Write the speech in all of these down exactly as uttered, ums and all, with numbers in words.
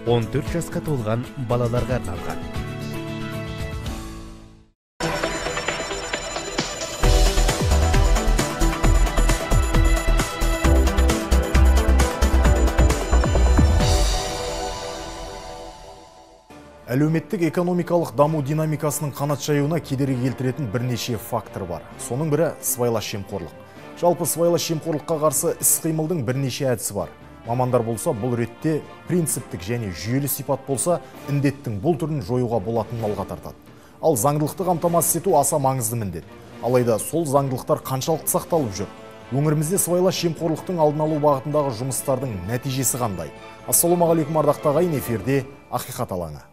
он төрт жасқа толған балаларға арналған. Әлеуметтік экономикалық даму динамикасының қанат жаюына кедергі келтіретін бірнеше фактор бар. Соның бірі сыбайлас жемқорлық. Жалпы сыбайлас жемқорлыққа қарсы іс-қимылдың бірнеше әдісі бар. Мамандар болса, бұл ретте принциптік және жүйелі сипат болса, індеттің бұл түрін жоюға болатынын алға тартады. Ал заңдылықты қамтамасыз ету аса маңызды міндет. Алайда сол заңдылықтар қаншалықты сақталып жүр? Өңірімізде сыбайлас жемқорлықтың алдын алу бағытындағы жұмыстардың нәтижесі қандай? Ассалаумағалейкум ардақты ағайын, эфирде Ақиқат алаңы.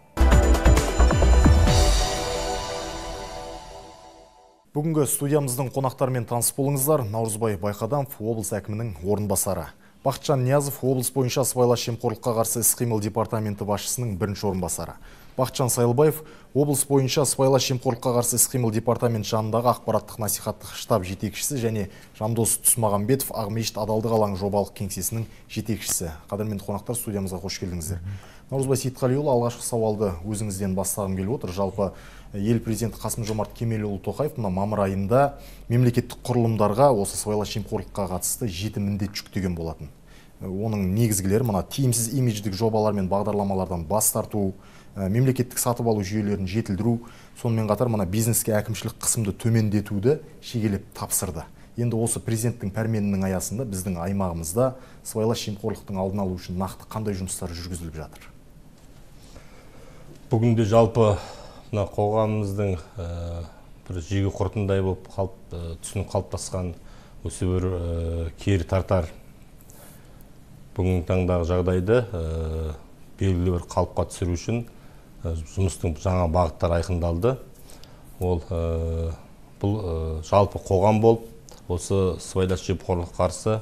Бүгінгі студиямыздың қонақтарымен таныс болыңыздар. Наурызбай Байқадамов, облыс әкімінің орынбасары. Бақытжан Ниязов, облыс бойынша сыбайлас жемқорлыққа қарсы іс-қимыл департаменті басшысының бірінші орынбасары. Бақытжан Сайлыбаев, облыс бойынша сыбайлас жемқорлыққа қарсы іс-қимыл департамент жанындағы ақпараттық насихаттық штаб жетекшісі және Жандос Тұсмағамбетов, Ақмешіт адалдық алаңы жобалық кеңсесінің жетекшісі. Қадірменді қонақтар, студиямызға қош келдіңіздер. Наурызбай Сейітқалиұлы, алғашқы сауалды өзіңізден бастағым келіп отыр. Жалпы ел президенті Қасым-Жомарт Кемелұлы Тоқаев мына мамыр айында мемлекеттік құрылымдарға осы сыбайлас жемқорлыққа қатысты жеті міндет жүктеген болатын. Оның негізгілері мына тиімсіз имидждік жобалар мен бағдарламалардан бас тарту, мемлекеттік сатып алу жүйелерін жетілдіру, сонымен қатар мына бизнеске әкімшілік қысымды төмендетуді шегелеп тапсырды. Енді осы президенттің пәрменінің аясында біздің аймағымызда сыбайлас жемқорлықтың алдын алу үшін нақты қандай жұмыстар жүргізіліп жатыр? Бүгінде жалпы қоғамымыздың бір жегі құртындай болып түсінік қалыптасқан осы бір кері тартар бүгінгі таңдағы жағдайды белгілі бір қалыпқа түсіру үшін жұмыстың жаңа бағыттары айқындалды. Ол бұл жалпы қоғам болып, осы сыбайлас жемқорлыққа қарсы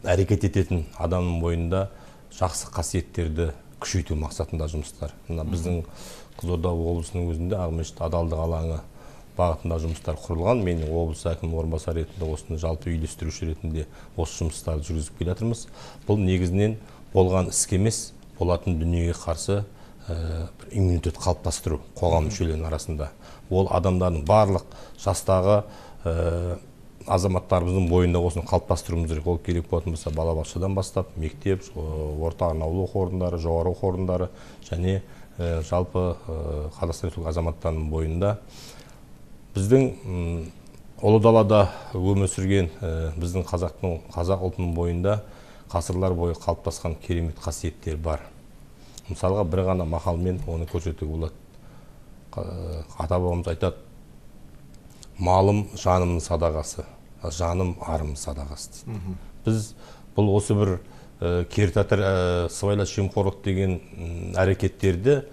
әрекет ететін адамның бойында жақсы қасиеттерді күшейту мақсатында жұмыстар. Біздің Қызылорда облысының өзінде Ақмешіт адалдық алаңы бағытында жұмыстар құрылған. Мен облыс әкімінің орынбасары ретінде осыны жалпы үйлестіруші ретінде осы жұмыстарды жүргізіп келе жатырмыз. Бұл негізінен болған іске емес, болатын дүниеге қарсы иммунитет қалыптастыру қоғам мүшелерінің арасында. Ол адамдардың барлық жастағы азаматтарымыздың бойында осыны қалыптастыруымыз керек. Ол керек болатын болса балабақшадан бастап, мектеп, орта арнаулы оқу орындары, жоғары оқу орындары және жалпы Қазақстан Республикасы азаматтарының бойында біздің ұлы далада өмір сүрген біздің қазақтың қазақ ұлтының бойында ғасырлар бойы қалыптасқан керемет қасиеттер бар. Мысалға бір ғана мақалмен оны көрсетуге болады. Ата-бабамыз айтады: малым жанымның садағасы, жаным арымның садағасы дейді. Біз бұл осы бір кері тартар сыбайлас жемқорлық деген әрекеттерді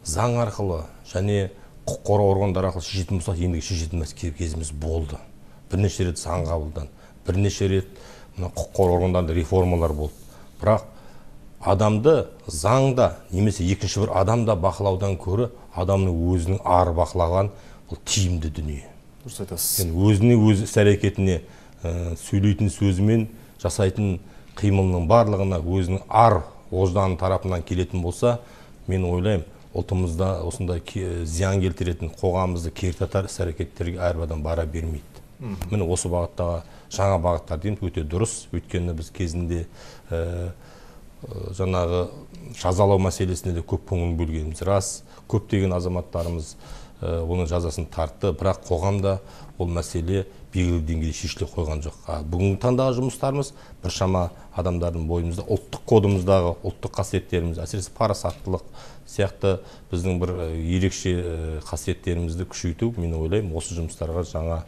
заң арқылы және құқық қорғау органдары арқылы шешетін болсақ, ендігі шешетін кезіміз болды. Бірнеше рет заң қабылданды, бірнеше рет құқық қорғау органдарында реформалар болды. Бірақ адамды заңда немесе екінші бір адамда бақылаудан көрі адамның өзінің ары бақылаған бұл тиімді дүние. Дұрыс айтасыз. Өзіне өз іс-әрекетіне, сөйлейтін сөзімен жасайтын қимылының барлығына өзінің ар ождан тарапынан келетін болса, мен ойлаймын, ұлтымызда осындай зиян келтіретін қоғамымызды кері тартар іс-әрекеттерге әрбір адам бара бермейді. Міне осы бағыттағы жаңа бағыттар дейміз, өте дұрыс. Өйткені біз кезінде жаңағы жазалау мәселесіне де көп көңіл бөлгеніміз рас. Көптеген азаматтарымыз оның жазасын тартты, бірақ қоғамда ол мәселе белгілі деңгейде шешіле қойған жоқ. Бүгінгі таңдағы жұмыстарымыз біршама адамдардың бойымызда ұлттық кодымыздағы ұлттық қасиеттеріміз, әсіресе парасаттылық сияқты біздің бір ерекше қасиеттерімізді күшейту, мен ойлаймын, осы жұмыстарға жаңа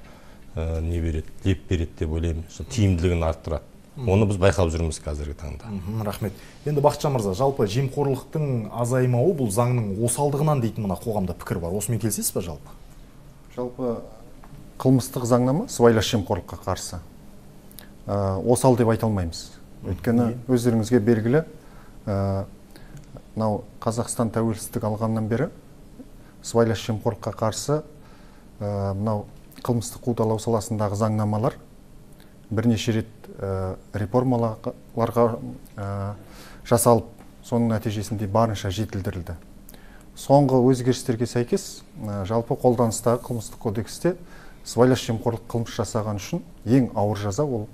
не береді, леп береді деп ойлаймын, тиімділігін арттырады. Оны біз байқап жүрміз қазіргі таңда. Рахмет. Енді Бақытжан мырза, жалпы жемқорлықтың азаймауы бұл заңның осалдығынан дейтін мына қоғамда пікір бар. Осымен келісесіз бе жалпы? Жалпы қылмыстық заңнама сыбайлас жемқорлыққа қарсы осал деп айта алмаймыз. Өйткені өздеріңізге белгілі, мынау Қазақстан тәуелсіздік алғаннан бері сыбайлас жемқорлыққа қарсы мынау қылмыстық қудалау саласындағы заңнамалар бірнеше рет реформаларға жасалып соның нәтижесінде барынша жетілдірілді. Соңғы өзгерістерге сәйкес жалпы қолданыстағы қылмыстық кодексте сыбайлас жемқорлық қылмыс жасаған үшін ең ауыр жаза ол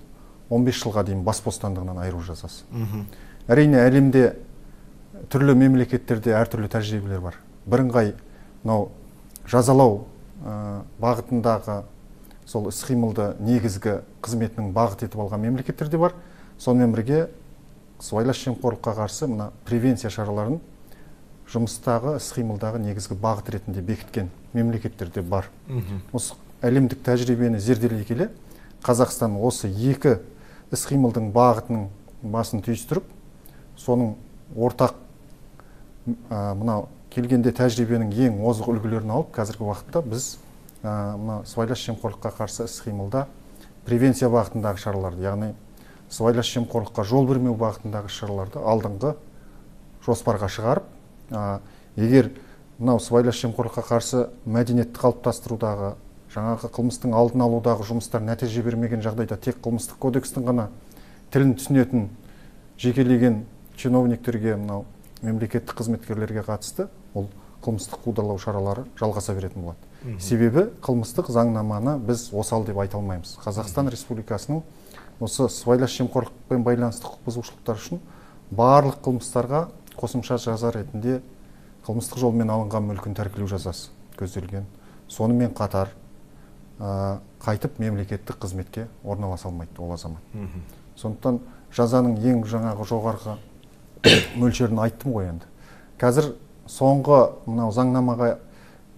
он бес жылға дейін бас бостандығынан айыру жазасы. Әрине әлемде түрлі мемлекеттерде әртүрлі тәжірибелер бар. Бірыңғай мынау жазалау бағытындағы сол іс-қимылды негізгі қызметінің бағыт етіп алған мемлекеттерде бар. Сонымен бірге сыбайлас жемқорлыққа қарсы мына превенция шараларын жұмыстағы іс-қимылдағы негізгі бағыт ретінде бекіткен мемлекеттерде бар. Осы әлемдік тәжірибені зерделей келе, Қазақстан осы екі іс-қимылдың бағытының басын түйістіріп, соның ортақ мынау келгенде тәжірибенің ең озық үлгілерін алып, қазіргі уақытта біз мына сыбайлас жемқорлыққа қарсы іс-қимылда превенция бағытындағы шараларды, яғни сыбайлас жемқорлыққа жол бермеу бағытындағы шараларды алдыңғы жоспарға шығарып, егер мынау сыбайлас жемқорлыққа қарсы мәдениетті қалыптастырудағы, жаңағы қылмыстың алдын алудағы жұмыстар нәтиже бермеген жағдайда тек қылмыстық кодекстің ғана тілін түсінетін жекелеген чиновниктерге, мынау мемлекеттік қызметкерлерге қатысты ол қылмыстық қудалау шаралары жалғаса беретін болады. Себебі қылмыстық заңнаманы біз осал деп айта алмаймыз. Қазақстан Республикасының осы сыбайлас жемқорлықпен байланысты құқық бұзушылықтар үшін барлық қылмыстарға қосымша жаза ретінде қылмыстық жолмен алынған мүлкін тәркілеу жазасы көзделген. Сонымен қатар қайтып мемлекеттік қызметке орналаса алмайды ол азамат. Сондықтан жазаның ең жаңағы жоғарғы мөлшерін айттым ғой енді. Қазір соңғы мынау заңнамаға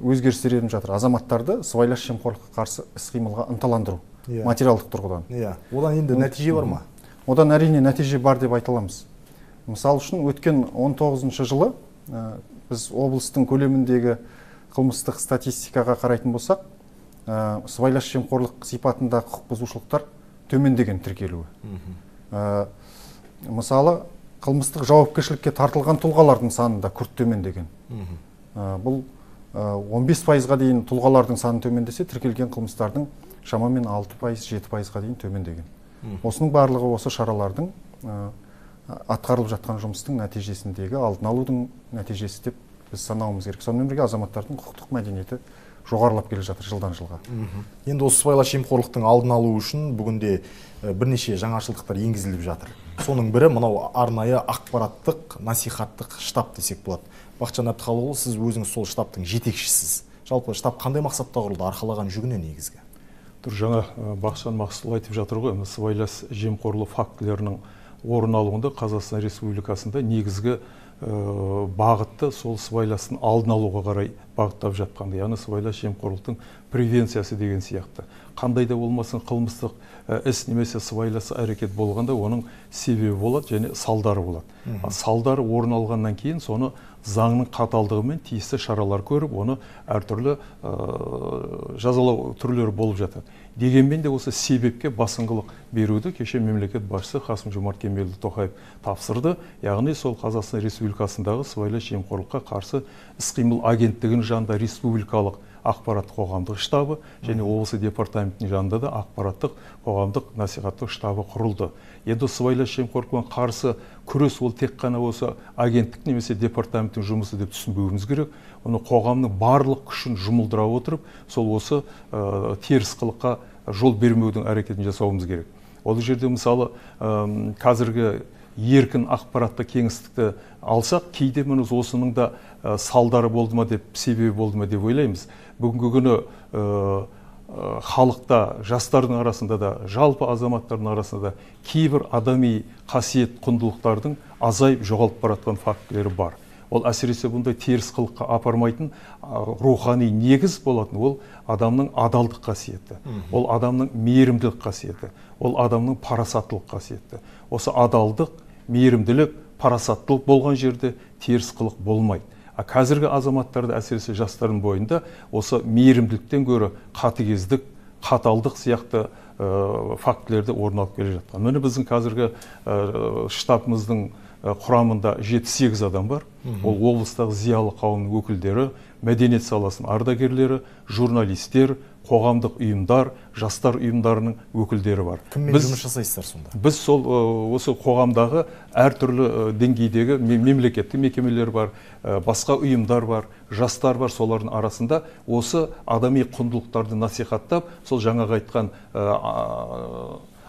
өзгерістер еніп жатыр. Азаматтарды сыбайлас жемқорлыққа қарсы іс-қимылға ынталандыру, материалдық тұрғыдан. Одан енді нәтиже бар ма? Одан әрине нәтиже бар деп айта аламыз. Мысалы үшін өткен он тоғызыншы жылы біз облыстың көлеміндегі қылмыстық статистикаға қарайтын болсақ, сыбайлас жемқорлық сипатында құқық бұзушылықтар төмендеген тіркелуі. Мысалы, қылмыстық жауапкершілікке тартылған тұлғалардың саны да күрт төмендеген. Бұл он бес пайызға дейін тұлғалардың саны төмендесе, тіркелген қылмыстардың шамамен алты пайыз жеті пайызға дейін төмендеген. Осының барлығы осы шаралардың атқарылып жатқан жұмыстың нәтижесіндегі алдын алудың нәтижесі деп біз санауымыз керек. Сонымен бірге азаматтардың құқықтық мәдениеті жоғарылап келе жатыр жылдан жылға. Енді осы сыбайлас жемқорлықтың алдын алу үшін бүгінде бірнеше жаңашылдықтар енгізіліп жатыр. Соның бірі мынау арнайы ақпараттық, насихаттық штаб десек болады. Бақытжан Әбдіхалықұлы, сіз өзіңіз сол штабтың жетекшісіз. Жалпы штаб қандай мақсатта құрылды, арқалаған жүгіне негізгі? Тұр, жаңа Бақытжан Мақсұтұлы айтып жатыр ғой, сыбайлас жемқорлық фактілерінің орын алуында Қазақстан Республикасында негізгі бағытты сол сыбайластың алдын алуға қарай бағыттап жатқанды, яғни сыбайлас жемқорлықтың превенциясы деген сияқты. Қандай да болмасын қылмыстық іс немесе сыбайлас әрекет болғанда оның себебі болады және салдары болады. Салдары орын алғаннан кейін соны заңның қаталдығымен тиісті шаралар көріп, оны әртүрлі жазалау түрлері болып жатады. Дегенмен де осы себепке басымдылық беруді кеше мемлекет басшысы Қасым-Жомарт Кемелұлы Тоқаев тапсырды. Яғни сол Қазақстан Республикасындағы сыбайлас жемқорлыққа қарсы іс-қимыл агенттігінің жанында республикалық ақпараттық қоғамдық штабы және облысы департаментінің жанында да ақпараттық қоғамдық насихаттық штабы құрылды. Енді сыбайлас жемқорлықпен қарсы күрес ол тек қана осы агенттік немесе департаменттің жұмысы деп түсінбеуіміз керек. Оны қоғамның барлық күшін жұмылдыра отырып, сол осы теріс қылыққа жол бермеудің әрекетін жасауымыз керек. Ол жерде мысалы қазіргі еркін ақпаратты кеңістікті алсақ, кейде мініз осының да салдары болды ма деп, себебі болды ма деп ойлаймыз. Бүгінгі күні халықта, жастардың арасында да, жалпы азаматтардың арасында кейбір адами қасиет құндылықтардың азайып жоғалып баратқан фактілері бар. Ол әсіресе бұндай теріс қылыққа апармайтын рухани негіз болатын, ол адамның адалдық қасиеті, ол адамның мейірімділік қасиеті, ол адамның парасаттылық қасиеті. Осы адалдық, мейірімділік, парасаттылық болған жерде теріс қылық болмайды. Қазіргі азаматтарды, әсіресе жастардың бойында осы мейірімділіктен гөрі қатыгездік, қаталдық сияқты фактілерді орын алып келе жатқан. Міне біздің қазіргі штабымыздың құрамында жеті сегіз адам бар. Ол облыстағы зиялы қауымның өкілдері, мәдениет саласының ардагерлері, журналистер, қоғамдық ұйымдар, жастар ұйымдарының өкілдері бар. Кіммен жұмыс жасайсыздар сонда? Біз сол осы қоғамдағы әртүрлі деңгейдегі мемлекеттік мекемелер бар, басқа ұйымдар бар, жастар бар, солардың арасында осы адами құндылықтарды насихаттап, сол жаңағы айтқан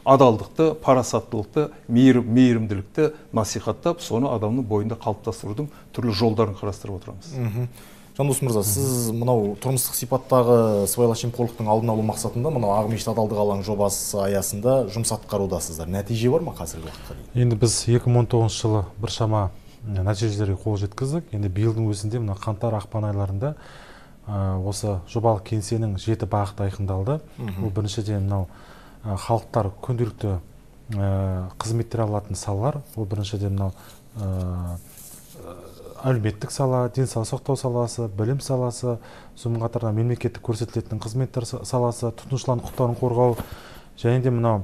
адалдықты, парасаттылықты, мейірімділікті насихаттап, соны адамның бойында қалыптастырудың түрлі жолдарын қарастырып отырамыз. Жандос мырза, сіз мынау тұрмыстық сипаттағы сыбайлас жемқорлықтың алдын алу мақсатында мынау Ақмешіт адалдық алаңы жобасы аясында жұмыс атқарудасыздар. Нәтиже бар ма қазіргі уақытқа дейін? Енді біз екі мың он тоғызыншы жылы біршама нәтижелерге қол жеткіздік. Енді биылдың өзінде мына қаңтар ақпан айларында осы жобалық кеңсенің жеті бағыты айқындалды. Бұл біріншіден мынау халықтар күнделікті қызметтер алатын салалар. Бұл біріншіден мынау әлеуметтік сала, денсаулық сақтау саласы, білім саласы, сонымен қатар мемлекеттік көрсетілетін қызметтер саласы, тұтынушылардың құқықтарын қорғау, және де мынау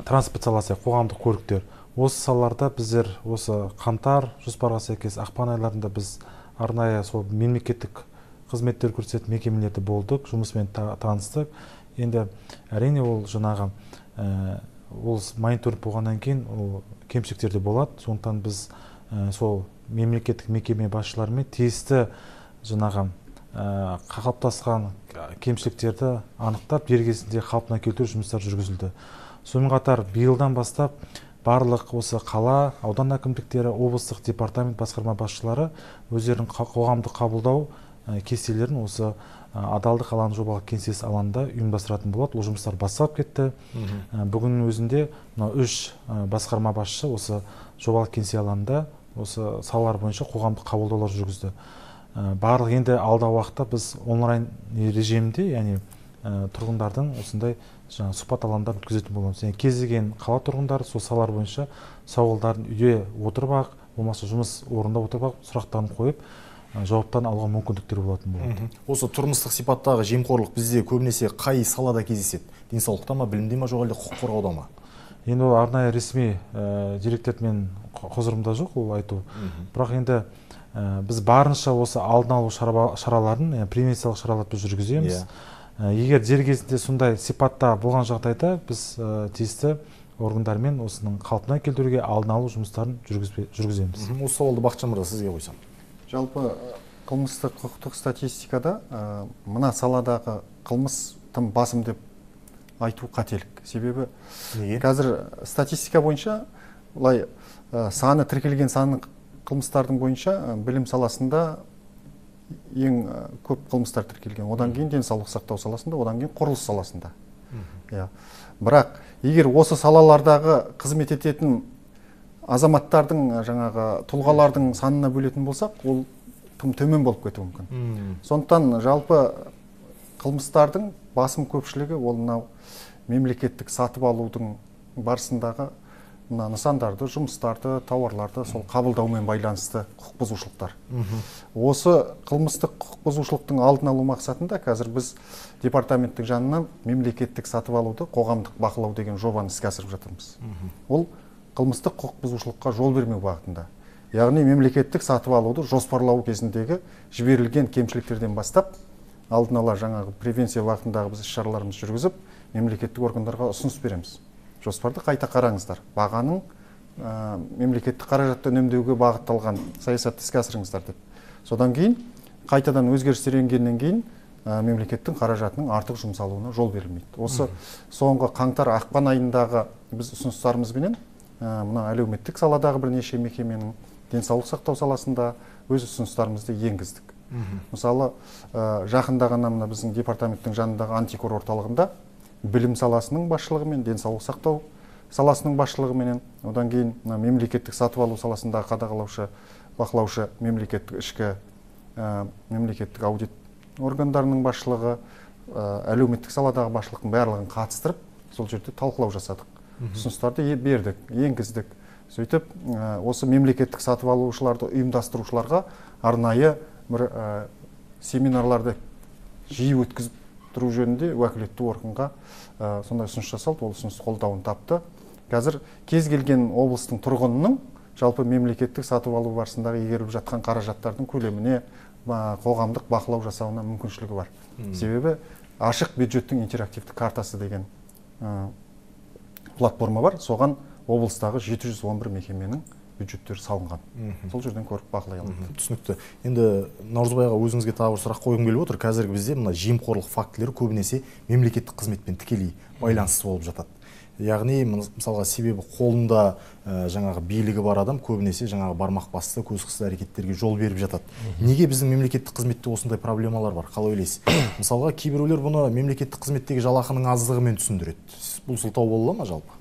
транспорт саласы, қоғамдық көліктер. Осы салаларда біздер осы қаңтар жоспарға сәйкес ақпан айларында біз арнайы сол мемлекеттік қызметтер көрсететін мекемелерде болдық, жұмысымен таныстық. Енді әрине ол жаңағы ол мониторинг болғаннан кейін ол кемшіліктер де болады. Сондықтан біз сол мемлекеттік мекеме басшыларымен тиісті жаңағы қалыптасқан кемшіліктерді анықтап, дер кезінде қалпына келтіру жұмыстар жүргізілді. Сонымен қатар биылдан бастап барлық осы қала, аудан әкімдіктері, облыстық департамент басқарма басшылары өздерінің қоғамдық қабылдау кестелерін осы адалдық алаңы жобалық кеңсесі алаңында ұйымдастыратын болады. Ол жұмыстар басталып кетті. Бүгін өзінде үш басқарма басшысы осы жобалық кеңсе алаңында осы салалар бойынша қоғамдық қабылдаулар жүргізді. Барлық енді алдағы уақытта біз онлайн режимде, яғни тұрғындардың осындай сұхбат алаңдарын өткізетін боламыз. Яғни кез келген қала тұрғындары сол салалар бойынша сауалдарын үйде отырып-ақ, болмаса жұмыс орнында отырып-ақ сұрақтарын қойып, жауаптарын алуға мүмкіндіктер болатын болады. Осы тұрмыстық сипаттағы жемқорлық бізде көбінесе қай салада кездеседі? Денсаулықта ма, білімде ма, жоқ әлде құқық қорғауда ма? Енді ол арнайы ресми деректермен құзырымда жоқ ол айту. Бірақ енді біз барынша осы алдын алу шараларын, превенциялық шараларды біз жүргіземіз. Егер дер кезінде сондай сипатта болған жағдайда біз тиісті органдармен осының қалпына келтіруге алдын алу жұмыстарын жүргіземіз. Осы сауалды Бақытжан мырза сізге қойсам. Жалпы қылмыстық құқықтық статистикада мына саладағы қылмыс тым басым деп айту қателік. Себебі қазір статистика бойынша олай саны тіркелген саны қылмыстардың бойынша білім саласында ең көп қылмыстар тіркелген. Одан кейін денсаулық сақтау саласында, одан кейін құрылыс саласында. Бірақ егер осы салалардағы қызмет ететін азаматтардың жаңағы тұлғалардың санына бөлетін болсақ, ол тым төмен болып кетуі мүмкін. Сондықтан жалпы қылмыстардың басым көпшілігі ол мынау мемлекеттік сатып алудың барысындағы мына нысандарды, жұмыстарды, тауарларды сол қабылдаумен байланысты құқық бұзушылықтар. Осы қылмыстық құқық бұзушылықтың алдын алу мақсатында қазір біз департаменттің жанынан мемлекеттік сатып алуды қоғамдық бақылау деген жобаны іске асырып жатырмыз. Ол қылмыстық құқық бұзушылыққа жол бермеу бағытында. Яғни мемлекеттік сатып алуды жоспарлау кезіндегі жіберілген кемшіліктерден бастап алдын ала жаңағы превенция бағытындағы біз іс-шараларымызды жүргізіп, мемлекеттік органдарға ұсыныс береміз. Жоспарды қайта қараңыздар. Бағаның мемлекеттік қаражатты үнемдеуге бағытталған саясатты іске асырыңыздар деп. Содан кейін қайтадан өзгерістер енгеннен кейін мемлекеттің қаражатының артық жұмсалуына жол берілмейді. Осы соңғы қаңтар ақпан айындағы біз ұсыныстарымызбенен мына әлеуметтік саладағы бірнеше мекеменің денсаулық сақтау саласында өз ұсыныстарымызды енгіздік. Мысалы, жақында ғана мына біздің департаменттің жанындағы антикор орталығында білім саласының басшылығымен, денсаулық сақтау саласының басшылығымен, одан кейін мемлекеттік сатып алу саласындағы қадағалаушы, бақылаушы мемлекеттік ішкі мемлекеттік аудит органдарының басшылығы, әлеуметтік саладағы басшылықтың барлығын қатыстырып, сол жерде талқылау жасадық. Ұсыныстарды бердік, енгіздік. Сөйтіп, осы мемлекеттік сатып алушыларды ұйымдастырушыларға арнайы бір семинарларды жиі өткізіп тұру жөнінде уәкілетті органға сондай ұсыныс жасалды, ол ұсыныс қолдауын тапты. қазір кез келген облыстың тұрғынының жалпы мемлекеттік сатып алу барысындағы игеріліп жатқан қаражаттардың көлеміне қоғамдық бақылау жасауына мүмкіншілігі бар. Себебі ашық бюджеттің интерактивті картасы деген платформа бар. Соған облыстағы жеті жүз он бір мекеменің бюджеттері салынған. Сол жерден көріп бақылай алады. Түсінікті. Енді Наурызбайға өзіңізге тағы бір сұрақ қойғым келіп отыр. Қазіргі бізде мына жемқорлық фактілері көбінесе мемлекеттік қызметпен тікелей байланысты болып жатады. Яғни мысалға себебі қолында жаңағы билігі бар адам көбінесе жаңағы бармақ басты, көз қысты әрекеттерге жол беріп жатады. Неге біздің мемлекеттік қызметте осындай проблемалар бар? Қалай ойлайсыз? Мысалға кейбіреулер бұны мемлекеттік қызметтегі жалақының аздығымен түсіндіреді. Бұл сылтау бола ма жалпы?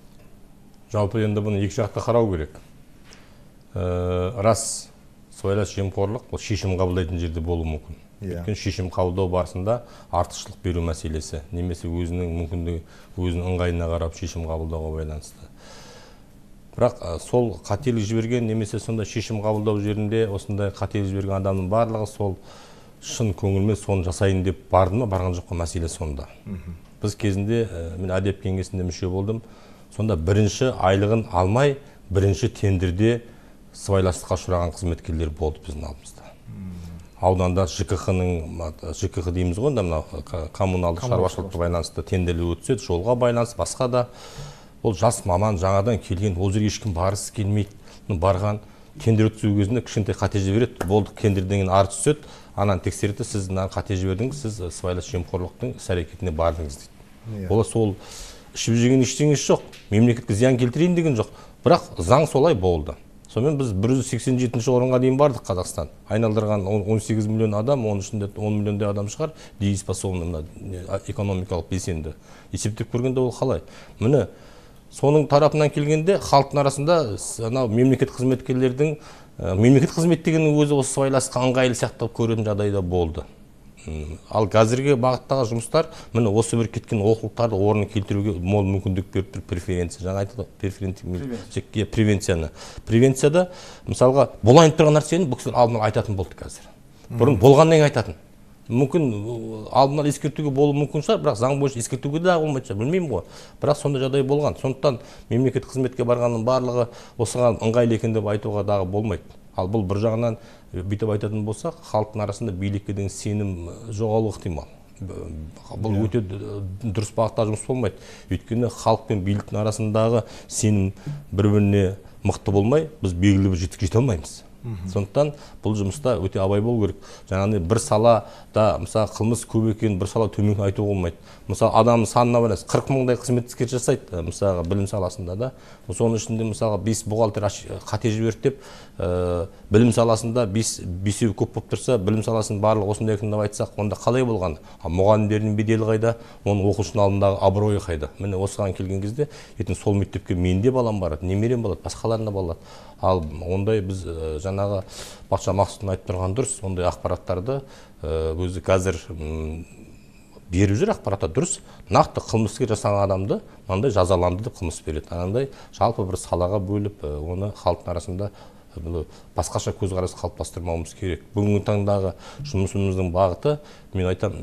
Жалпы енді бұны екі жақты қарау керек. Рас, сыбайлас жемқорлық бұл шешім қабылдайтын жерде болуы мүмкін. Өйткені шешім қабылдау барысында артықшылық беру мәселесі, немесе өзінің мүмкіндігі, өзінің ыңғайына қарап шешім қабылдауға байланысты. Бірақ сол қателік жіберген, немесе сонда шешім қабылдау жерінде осындай қателік жіберген адамның барлығы сол шын көңілмен соны жасайын деп барды ма, барған жоқ па, мәселе сонда. Біз кезінде мен әдеп кеңесінде мүше болдым. Сонда бірінші айлығын алмай, бірінші тендерде сыбайластыққа ұшыраған қызметкерлер болды біздің алдымызда. Ауданда ЖКХ-ның, ЖКХ дейміз ғой, коммуналдық шаруашылыққа байланысты тендерлер өтседі, жолға байланысты, басқа да. Ол жас маман жаңадан келген, ол жерге ешкім барғысы келмейді, барған тендер өткізу кезінде кішкентай қате жібереді, болды, тендерден кейін арыз түседі, ананы тексереді, сіз қате жібердіңіз, сіз сыбайлас жемқорлықтың іс-әрекетіне бардыңыз дейді. Ол сол ішіп жеген ештеңесі жоқ, мемлекетке зиян келтірейін деген жоқ, бірақ заң солай болды. Сонымен біз бір жүз сексен жетінші орынға дейін бардық Қазақстан. Айналдырған он сегіз миллион адам, оның ішінде он миллиондай адам шығар, дееспособны экономикалық белсенді. Есептеп көргенде ол қалай? Міне, соның тарапынан келгенде халықтың арасында мемлекет қызметкерлердің, мемлекет қызмет дегеннің өзі осы сыбайласқа ыңғайлы сияқты көретін жағдайда болды. Ал қазіргі бағыттағы жұмыстар міне осы бір кеткен олқылықтарды орнына келтіруге мол мүмкіндік беріп тұр. Преференция, жаңа айтты ғой, превенцияны. Превенцияда мысалға болайын тұрған нәрсені бұл кісілер алдын ала айтатын болды қазір. Бұрын болғаннан кейін айтатын. Мүмкін алдын ала ескертуге болуы мүмкін шығар, бірақ заң бойынша ескертуге де болмайды шығар, білмеймін ғой. Бірақ сондай жағдай болған. Сондықтан мемлекет қызметке барғанның барлығы осыған ыңғайлы екен деп айтуға дағы болмайды. Ал бұл бір жағынан бүйтіп айтатын болсақ, халықтың арасында билікке деген сенім жоғалуы ықтимал. Бұл өте дұрыс бағытта жұмыс болмайды. Өйткені халық пен биліктің арасындағы сенім бір-біріне мықты болмай, біз белгілі бір жетістікке жете алмаймыз. Сондықтан бұл жұмыста өте абай болу керек. Жаңағыдай бір салада, мысалы, қылмыс көп екен, бір сала төмен айтуға болмайды. Мысалы, адамның санына байланысты қырық мыңдай қызметкер жасайды, мысалы, білім саласында да. Соның ішінде мысалы бес бухгалтер қате жіберді деп, білім саласында бесеу көп болып тұрса, білім саласының барлығы осындай екен деп айтсақ, онда қалай болған? Мұғалімдердің беделі қайда, оның оқушының алдындағы абыройы қайда? Міне осыған келген кезде, ертең сол мектепке менде балам барады, немерем болады, басқаларында болады. Ал ондай біз жаңағы Бақытжан Мақсұттың айтып тұрған дұрыс, ондай ақпараттарды өзі қазір беріп жүр, ақпаратта дұрыс. Нақты қылмыскер жасаған адамды мынандай жазаланды деп қылмыс береді. Анандай жалпы бір салаға бөліп, оны халықтың арасында басқаша көзқарас қалыптастырмауымыз керек. Бүгінгі таңдағы жұмысымыздың бағыты, мен айтам,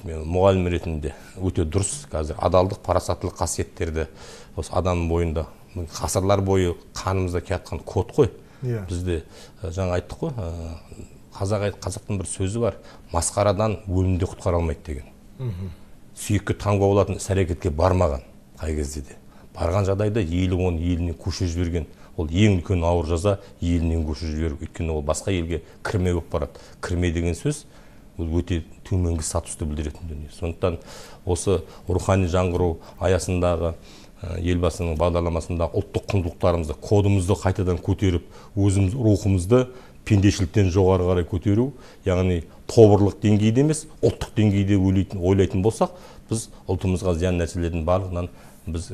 мұғалім ретінде өте дұрыс. Қазір адалдық, парасаттылық қасиеттерді осы адамның бойында ғасырлар бойы қанымызда келатқан код қой. Бізде жаңа айттық қой, қазақтың бір сөзі бар, масқарадан өлімде құтқара алмайды деген. Сүйекке таңба болатын іс-әрекетке бармаған қай кезде де. Барған жағдайда елі оны елінен көшіріп жіберген. Ол ең үлкен ауыр жаза елінен көшіріп жіберу. Өйткені ол басқа елге кірме болып барады. Кірме деген сөз ол өте төменгі статусты білдіретін дүние. Сондықтан осы рухани жаңғыру аясындағы елбасының бағдарламасында ұлттық құндылықтарымызды, кодымызды қайтадан көтеріп, өзіміз рухымызды пендешіліктен жоғары қарай көтеру, яғни тобырлық деңгейде емес, ұлттық деңгейде ойлайтын болсақ, біз ұлтымызға зиян нәрселердің барлығынан біз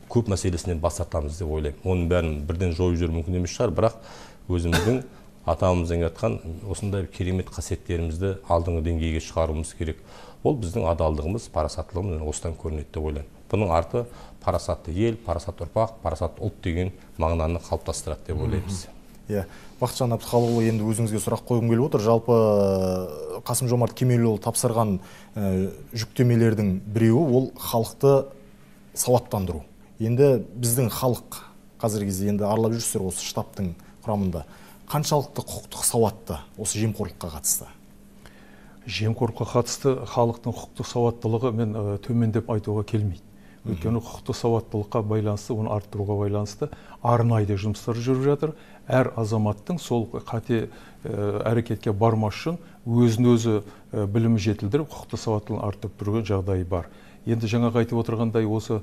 көп мәселесінен бас тартамыз деп ойлаймын. Оның бәрін бірден жойып жіберу мүмкін емес шығар, бірақ өзіміздің атамыздың айтқан осындай керемет қасиеттерімізді алдыңғы деңгейге шығаруымыз керек. Ол біздің адалдығымыз, парасаттылығымыз осыдан көрінеді деп ойлаймын. Бұның арты парасатты ел, парасатты ұрпақ, парасатты ұлт деген мағынаны қалыптастырады деп ойлаймыз. Иә, Бақытжан Әбдіхалықұлы, енді өзіңізге сұрақ қойғым келіп отыр. Жалпы Қасым-Жомарт Кемелұлы тапсырған жүктемелердің біреуі ол халықты сауаттандыру. Енді біздің халық қазіргі кезде енді аралап жүрсіздер осы штабтың құрамында. Қаншалықты құқықтық сауатты осы жемқорлыққа қатысты? Жемқорлыққа қатысты халықтың құқықтық сауаттылығы мен төмен деп айтуға келмейді. Өйткені құқықтық сауаттылыққа байланысты, оны арттыруға байланысты арнайы жұмыстар жүріп жатыр. Әр азаматтың сол қате әрекетке бармас үшін өзін өзі білімі жетілдіріп, құқықтық сауаттылығын арттырып тұрған жағдайы бар. Енді жаңағы айтып отырғандай осы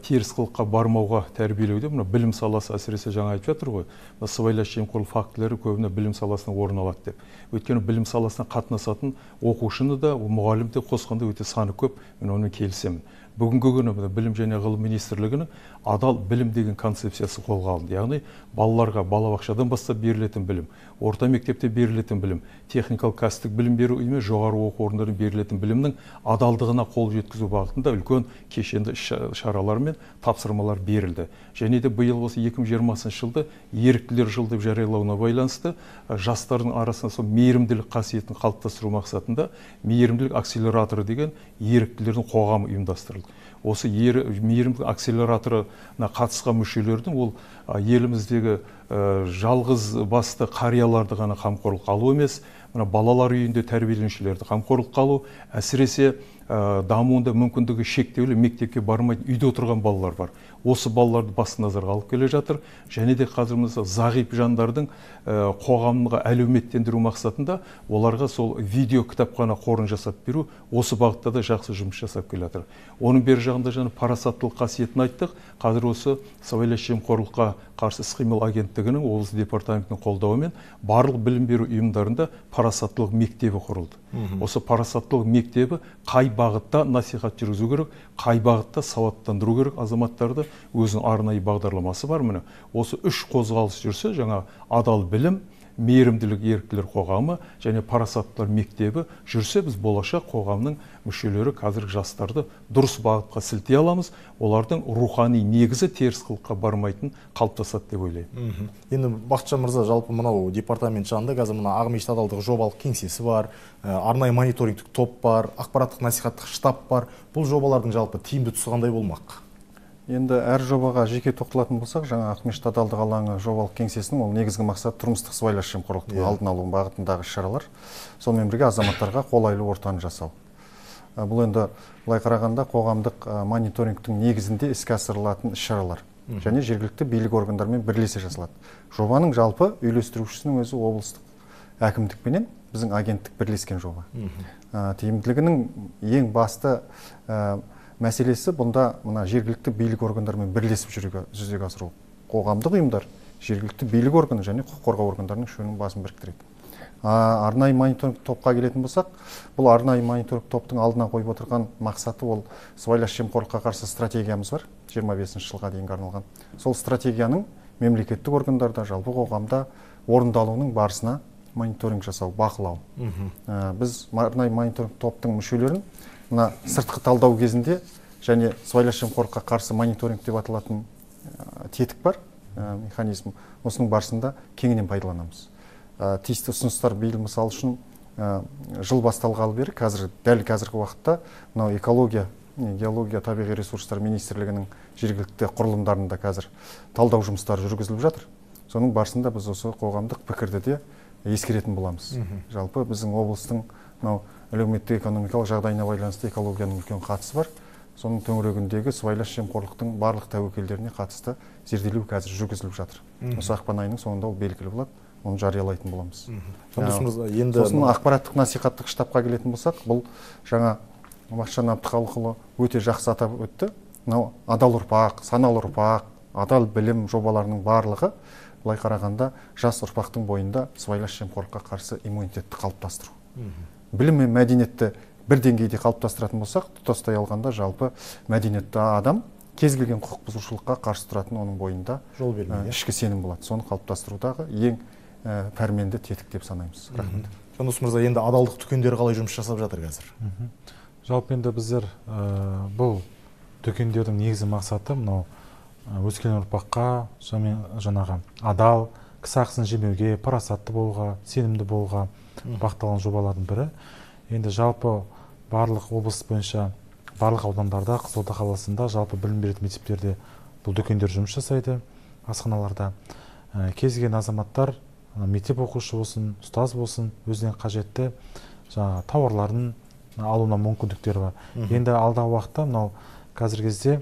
теріс қылыққа бармауға тәрбиелеуде мына білім саласы әсіресе жаңа айтып жатыр ғой. Сыбайлас жемқорлық фактілері көбіне білім саласына орын алады деп. Өйткені білім саласына қатынасатын оқушыны да, мұғалім де қосқанда өте саны көп, мен онымен келісемін. Бүгінгі күні білім және ғылым министрлігінің адал білім деген концепциясы қолға алынды. Яғни балаларға балабақшадан бастап берілетін білім, орта мектепте берілетін білім, техникалық кәсіптік білім беру ұйымы, жоғары оқу орындарында берілетін білімнің адалдығына қол жеткізу бағытында үлкен кешенді шаралар мен тапсырмалар берілді. Және де биыл осы екі мың жиырмасыншы жылды еріктілер жылы деп жариялауына байланысты жастардың арасында сол мейірімділік қасиетін қалыптастыру мақсатында мейірімділік акселераторы деген еріктілердің қоғамы ұйымдастырылды. Осы мейірімділік акселераторына қатысқан мүшелердің ол еліміздегі жалғыз басты қарияларды ғана қамқорлыққа алу емес, мына балалар үйінде тәрбиеленушілерді қамқорлыққа алу, әсіресе дамуында мүмкіндігі шектеулі мектепке бармайды үйде отырған балалар бар. Осы балаларды басты назарға алып келе жатыр. Және де қазір мысалы зағип жандардың қоғамға әлеуметтендіру мақсатында оларға сол видео кітапхана қорын жасап беру, осы бағытта да жақсы жұмыс жасап келе жатыр. Оның бер жағында жаңа парасаттылық қасиетін айттық. Қазір осы сыбайлас жемқорлыққа қарсы іс-қимыл агенттігінің облыс департаментінің қолдауымен барлық білім беру ұйымдарында парасаттылық мектебі құрылды. Осы парасаттылық мектебі қай бағытта насихат жүргізу керек, қай бағытта сауаттандыру керек азаматтарды, өзінің арнайы бағдарламасы бар. Міне осы үш қозғалыс жүрсе, жаңа адал білім, мейірімділік еріктілер қоғамы және парасаттылар мектебі жүрсе, біз болашақ қоғамның мүшелері қазіргі жастарды дұрыс бағытқа сілтей аламыз. Олардың рухани негізі теріс қылыққа бармайтын қалыптасады деп ойлаймын. Енді Бақытжан мырза, жалпы мынау департамент жанында қазір мына Ақмешіт адалдық жобалық кеңсесі бар, арнайы мониторингтік топ бар, ақпараттық насихаттық штаб бар. Бұл жобалардың жалпы тиімді тұсы қандай болмақ? Енді әр жобаға жеке тоқталатын болсақ, жаңа Ақмешіт адалдық алаңы жобалық кеңсесінің ол негізгі мақсат тұрмыстық сыбайлас жемқорлықтың алдын алу бағытындағы шаралар. Сонымен бірге азаматтарға қолайлы ортаны жасау. Бұл енді былай қарағанда қоғамдық мониторингтің негізінде іске асырылатын іс-шаралар және жергілікті билік органдарымен бірлесе жасалады. Жобаның жалпы үйлестірушісінің өзі облыстық әкімдікпенен біздің агенттік бірлескен жоба. Тиімділігінің ең басты мәселесі бұнда мына жергілікті билік органдарымен бірлесіп жүзеге асыру. Қоғамдық ұйымдар, жергілікті билік органы және құқық қорғау органдарының үшеуінің басын біріктіреді. Арнайы мониторинг топқа келетін болсақ, бұл арнайы мониторинг топтың алдына қойып отырған мақсаты ол сыбайлас жемқорлыққа қарсы стратегиямыз бар, жиырма бесінші жылға дейінгі арналған. Сол стратегияның мемлекеттік органдарда, жалпы қоғамда орындалуының барысына мониторинг жасау, бақылау. Біз арнайы мониторинг топтың мүшелерін мына сыртқы талдау кезінде және сыбайлас жемқорлыққа қарсы мониторинг деп аталатын тетік бар, механизм. Осының барысында кеңінен пайдаланамыз. Тиісті ұсыныстар биыл мысал үшін жыл басталғалы бері қазір дәл қазіргі уақытта мынау экология, геология, табиғи ресурстар министрлігінің жергілікті құрылымдарында қазір талдау жұмыстары жүргізіліп жатыр. Соның барысында біз осы қоғамдық пікірді де ескеретін боламыз. Жалпы біздің облыстың мынау әлеуметтік экономикалық жағдайына байланысты экологияның үлкен қатысы бар. Соның төңірегіндегі сыбайлас жемқорлықтың барлық тәуекелдеріне қатысты зерделеу қазір жүргізіліп жатыр. Осы ақпан айының соңында ол белгілі болады, оны жариялайтын боламыз. Сосын ақпараттық насихаттық штабқа келетін болсақ, бұл жаңа Бақытжан Әбдіхалықұлы өте жақсы атап өтті. Мынау адал ұрпақ, саналы ұрпақ, адал білім жобаларының барлығы былай қарағанда жас ұрпақтың бойында сыбайлас жемқорлыққа қарсы иммунитетті қалыптастыру. Білім мен мәдениетті бір деңгейде қалыптастыратын болсақ, тұтастай алғанда жалпы мәдениетті адам кез келген құқық бұзушылыққа қарсы тұратын оның бойында жол бермейді, ішкі сенім болады. Соны қалыптастырудағы ең пәрменді тетік деп санаймыз. Рахмет. Жандос мырза, енді адалдық дүкендері қалай жұмыс жасап жатыр қазір? Жалпы енді біздер бұл дүкендердің негізгі мақсаты мынау өскелең ұрпаққа жаңағы адал, кісі ақысын жемеуге, парасатты болуға, сенімді болуға бағытталған жобалардың бірі. Енді жалпы барлық облыс бойынша, барлық аудандарда, Қызылорда қаласында жалпы білім беретін мектептерде бұл дүкендер жұмыс жасайды асханаларда. Кез келген азаматтар, мектеп оқушы болсын, ұстаз болсын, өзіне қажетті жаңағы тауарларын алуына мүмкіндіктері бар. Енді алдағы уақытта мынау қазіргі кезде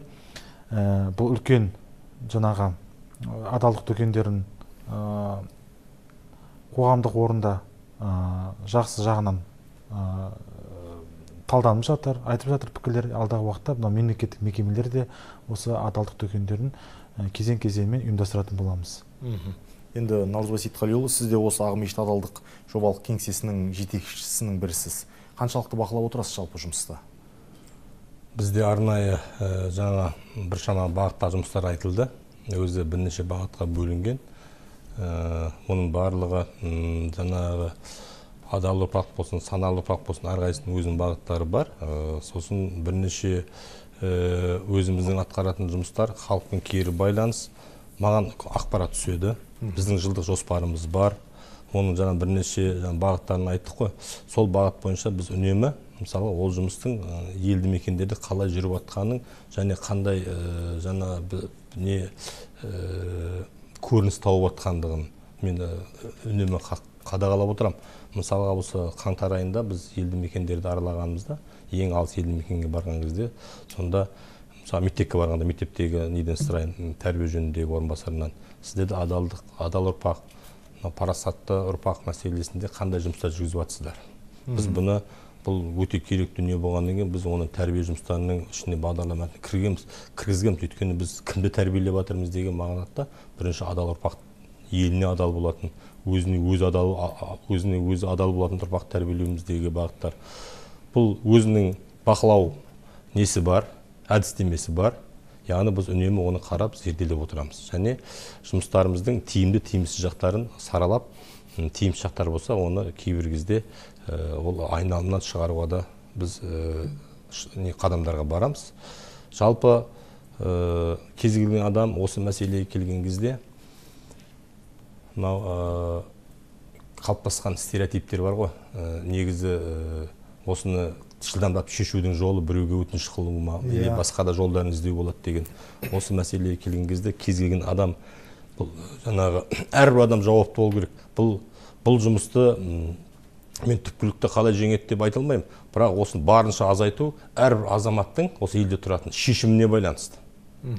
бұл үлкен жаңағы адалдық дүкендерін қоғамдық орында жақсы жағынан талданып жатыр, айтып жатыр пікірлер. Алдағы уақытта мынау мемлекеттік мекемелер де осы адалдық дүкендерін кезең-кезеңмен ұйымдастыратын боламыз. Енді Наурызбай Сейтқалиұлы, сіз де осы Ақмешіт адалдық жобалық кеңсесінің жетекшісінің бірісіз. Қаншалықты бақылап отырасыз жалпы жұмыста? Бізде арнайы жаңа біршама бағытта жұмыстар айтылды. Өзі бірнеше бағытқа бөлінген. Оның барлығы жаңағы адал ұрпақ болсын, саналы ұрпақ болсын, әрқайсысының өзінің бағыттары бар. Сосын бірнеше өзіміздің атқаратын жұмыстар, халықпен кері байланыс, маған ақпарат түседі. Біздің жылдық жоспарымыз бар. Оның жаңа бірнеше бағыттарын айттық қой. Сол бағыт бойынша біз үнемі, мысалы, ол жұмыстың елді мекендерде қалай жүріп жатқанын және қандай жаңа не көрініс тауып жатқандығын мен үнемі қадағалап отырам. Мысалға осы қаңтар айында біз елді мекендерді аралағанымызда, ең алыс елді мекенге барған кезде, сонда мысалы мектепке барғанда мектептегі неден сұрайын, тәрбие жөніндегі орынбасарынан, сіздерде адалдық, адал ұрпақ, парасатты ұрпақ мәселесінде қандай жұмыстар жүргізіп жатсыздар? Біз бұны, бұл өте керек дүние болғаннан кейін, біз оның тәрбие жұмыстарының ішіне бағдарламасын кіргіземіз, кіргізгенбіз. Өйткені біз кімді тәрбиелеп жатырмыз деген мағынада бірінші адал ұрпақ, еліне адал болатын, өзіне өзі адал, өзіне өзі адал болатын ұрпақ тәрбиелеуіміздегі бағыттар. Бұл өзінің бақылау несі бар, әдістемесі бар. Яғни біз үнемі оны қарап, зерделеп отырамыз. Және жұмыстарымыздың тиімді, тиімсіз жақтарын саралап, тиімсіз жақтар болса, оны кейбір кезде ол айналымнан шығаруға да біз қадамдарға барамыз. Жалпы кез келген адам осы мәселеге келген кезде мынау қалыптасқан стереотиптер бар ғой. Негізі осыны жылдамдап шешудің жолы біреуге өтініш қылу ма, или басқа да жолдарын іздеу болады деген. Осы мәселеге келген кезде кез келген адам, бұл жаңағы әрбір адам жауапты болу керек. Бұл бұл жұмысты мен түпкілікті қалай жеңеді деп айта алмаймын, бірақ осыны барынша азайту әрбір азаматтың осы елде тұратын шешіміне байланысты.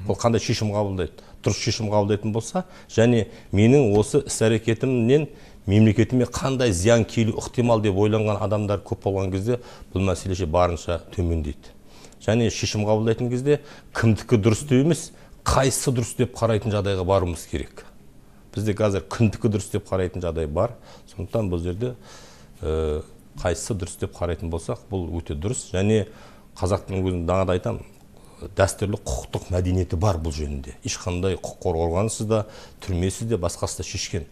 Ол қандай шешім қабылдайды, дұрыс шешім қабылдайтын болса, және менің осы іс-әрекетімнен мемлекетіме қандай зиян келу ықтимал деп ойланған адамдар көп болған кезде бұл мәселе барынша төмендейді. Және шешім қабылдайтын кезде кімдікі дұрыс деп емес, қайсысы дұрыс деп қарайтын жағдайға баруымыз керек. Бізде қазір кімдікі дұрыс деп қарайтын жағдай бар. Сондықтан бұл жерде қайсысы дұрыс деп қарайтын болсақ, бұл өте дұрыс. Және қазақтың өзін даңғада айтам, дәстүрлі құқықтық мәдениеті бар бұл жөнінде. Ешқандай құқық қорғау органысыз да, түрмесіз де, басқасы да шешкен.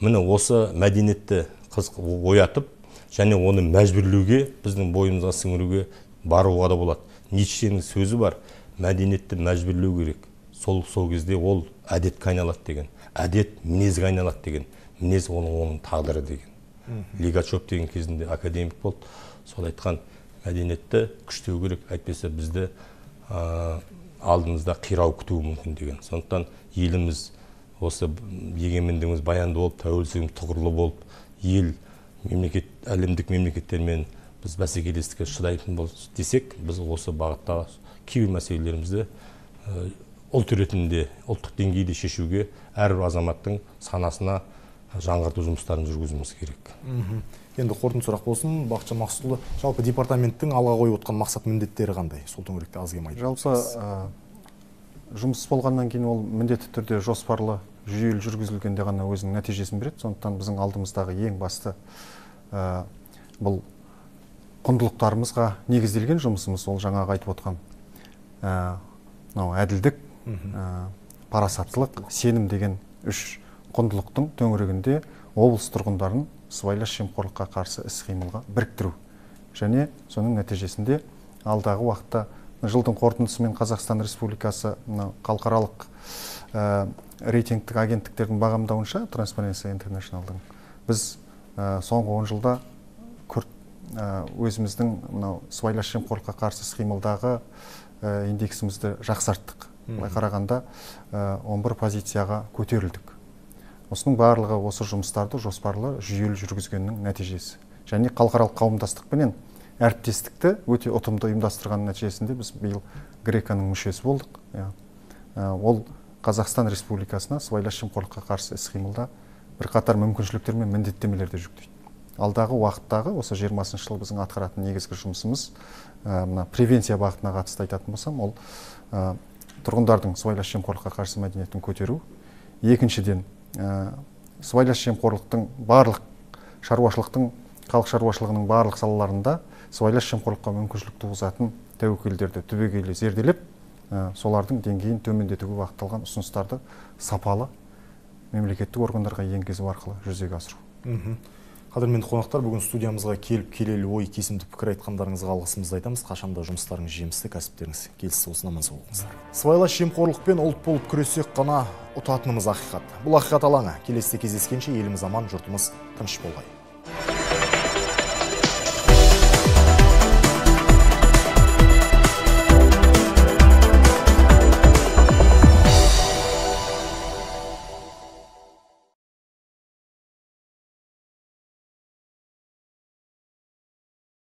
Міне осы мәдениетті оятып, және оны мәжбүрлеуге, біздің бойымызға сіңіруге баруға да болады. Ницшенің сөзі бар, мәдениетті мәжбүрлеу керек. Сол сол кезде ол әдетке айналады деген. Әдет мінезге айналады деген. Мінез оның оның тағдыры деген. Лигачев деген кезінде академик болды. Сол айтқан мәдениетті күштеу керек, әйтпесе бізді алдымызда қирау күтуі мүмкін деген. Сондықтан еліміз осы егемендігіміз баянды болып, тәуелсіздігіміз тұғырлы болып, ел мемлекет, әлемдік мемлекеттермен біз бәсекелестікке шыдайтын болсақ десек, біз осы бағытта кейбір мәселелерімізді ұлт ретінде, ұлттық деңгейде шешуге әрбір азаматтың санасына жаңғырту жұмыстарын жүргізуіміз керек. Енді қорытынды сұрақ болсын, Бақытжан Мақсұтұлы, жалпы департаменттің алға қойып отқан мақсат міндеттері қандай? Сол төңіректе аз кем айтып Жалпы жұмыс болғаннан кейін ол міндетті түрде жоспарлы, жүйелі жүргізілгенде ғана өзінің нәтижесін береді. Сондықтан біздің алдымыздағы ең басты бұл құндылықтарымызға негізделген жұмысымыз, ол жаңағы айтып отқан әділдік, парасаттылық, сенім деген үш құндылықтың төңірегінде облыс тұрғындарын сыбайлас жемқорлыққа қарсы іс-қимылға біріктіру. Және соның нәтижесінде алдағы уақытта жылдың қорытындысымен Қазақстан Республикасы халықаралық рейтингтік агенттіктердің бағамдауынша, Transparency International'дың, біз соңғы он жылда өзіміздің сыбайлас жемқорлыққа қарсы іс-қимылдағы индексімізді жақсарттық. былай қарағанда он бір позицияға көтерілдік. Осының барлығы осы жұмыстарды жоспарлы жүйелі жүргізгеннің нәтижесі. Және халықаралық қауымдастықпенен әріптестікті өте ұтымды ұйымдастырған нәтижесінде біз биыл греканың мүшесі болдық. Ол Қазақстан Республикасына сыбайлас жемқорлыққа қарсы іс-қимылда бірқатар мүмкіншіліктер мен міндеттемелерді жүктейді. Алдағы уақыттағы осы жиырмасыншы жылы біздің атқаратын негізгі жұмысымыз мына превенция бағытына қатысты айтатын болсам, ол тұрғындардың сыбайлас жемқорлыққа қарсы мәдениетін көтеру. Екіншіден, сыбайлас жемқорлықтың барлық шаруашылықтың, халық шаруашылығының барлық салаларында сыбайлас жемқорлыққа мүмкіншілік туғызатын тәуекелдерді түбегейлі зерделеп, солардың деңгейін төмендетуге бағытталған ұсыныстарды сапалы мемлекеттік органдарға енгізу арқылы жүзеге асыру. Қадірменді қонақтар, бүгін студиямызға келіп келелі ой кесімді пікір айтқандарыңызға алғысымызды айтамыз. Қашанда жұмыстарыңыз жемісті, кәсіптеріңіз келісі осына аман сау болыңыздар. Сыбайлас жемқорлықпен ұлт болып күресек қана ұтатынымыз ақиқат. Бұл ақиқат алаңы. Келесіде кездескенше еліміз аман, жұртымыз тыныш болғай.